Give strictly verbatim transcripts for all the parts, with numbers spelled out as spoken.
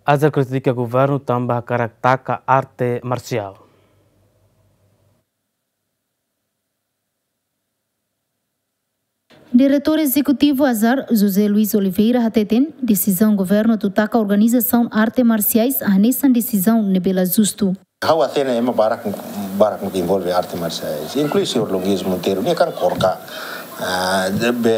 Azar kritika governu tanba hakarak taka arte marsiál. Diretór Ezekutivu Azar, José Luís Oliveira, hateten desizaun governu atu taka organizasaun arte marsiais hanesan desizaun ne'ebé la justu. Ha'u hatene ema barak, barak mak envolve arte marsiais, inklui señór Luís Monteiro, nia kan korka, ah, de, be,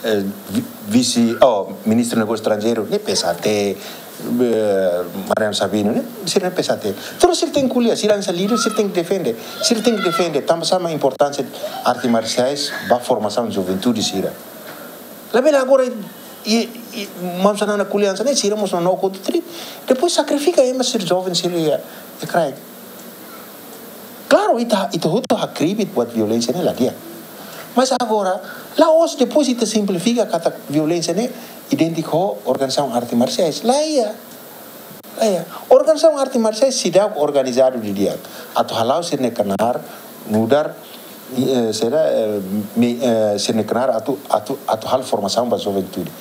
eh, vi-, vise, oh, ministru negósiu estranjeiru, nia P S A T, eh, Mariano Sabino, ne'e, sira P S A T. Tudu sira tenke ko'alia, sira hanesan líder, sira tenke defende. Sira tenke defende, tanba sá mak importánsia arte marsiais ba formasaun juventude sira. Labele agora, i, i, maun Xanana ko'alia hanesan ne'e, sira mós no kau tri. Depois sakrifika ema sira joven sira iha, iha kraik. Klaru, ita, ita hotu hakribi buat violénsia ne'e la di'ak. Mas agora, la'ós depois ita simplifika katak violénsia ne'e idéntiku ho organizasaun arte marsiais. La iha. La iha. Organizasaun arte marsiais seidauk organizadu didi'ak. Atu hala'o sira-nia knaar, nu'udar, eh, sira, eh, mi-, eh, sira-nia knaar atu, atu, atu halo formasaun ba juventude.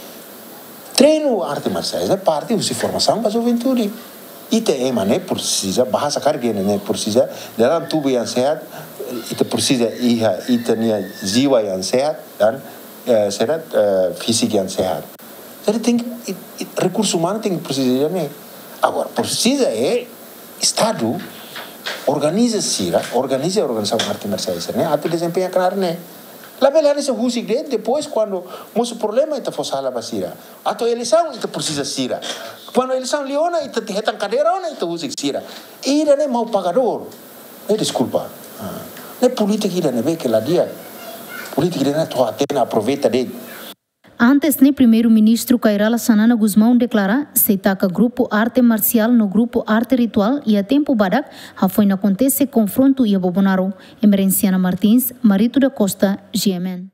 Treinu arte marsiais ne'e parte husi formasaun ba juventude. Ita ema ne'e presiza, bahasa karik ida ne'e presiza, dalam tubuh yang sehat, ita presiza iha ita-nia jiwa yang sehat, dan, eh, sehat, eh, fisik yang sehat. Jadi tenke, i, i, rekursu umanu tenke presiza ida ne'e. Agora, presiza é Estadu organiza sira, organiza organizasaun arte marsiais ne'e, atu dezempeña knaar ne'e. Labele hanesan husik de'it, depois kuandu mosu problema ita fó sala ba sira. Atu eleisaun ita presiza sira. Kuandu eleisaun liu ona ita hetan kadeira ona ita husik sira. Ida ne'e mau pagadór. Eh, deskulpa. Ah. Ne'e polítika ida ne'ebé ke la di'ak. Polítika ida ne'e to'o até na aproveita de'it. Antes ne'e, Primeiru-Ministru Kay Rala Xanana Gusmão deklara sei taka grupu arte marsiál no grupu arte rituál iha tempu badak hafoin akontese konfrontu iha Bobonaro. Emerenciana Martins, Marito da Costa, G M N.